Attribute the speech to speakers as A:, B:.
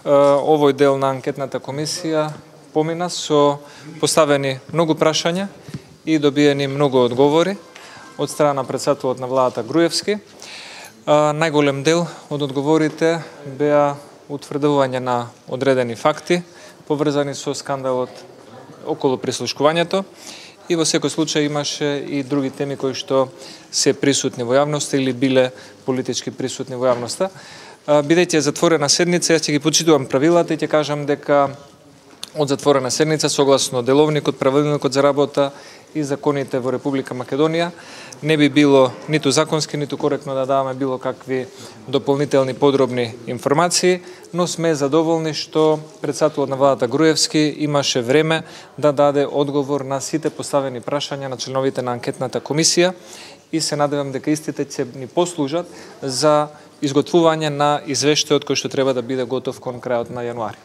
A: Овој дел на анкетната комисија помина со поставени многу прашања и добиени многу одговори од страна на претседателот на владата Груевски. Најголем дел од одговорите беа утврдување на одредени факти поврзани со скандалот околу прислушкувањето и во секој случај имаше и други теми кои што се присутни во јавноста или биле политички присутни во јавноста. Бидејќи е затворена седница, јас ќе ги почитувам правилата и ќе кажам дека од затворена седница, согласно деловникот, правилникот за работа и законите во Република Македонија, не би било ниту законски, ниту коректно да даваме било какви дополнителни подробни информации, но сме задоволни што претседателот на владата Груевски имаше време да даде одговор на сите поставени прашања на членовите на анкетната комисија и се надевам дека истите ќе ни послужат за изготвување на извештајот кој што треба да биде готов кон крајот на јануари.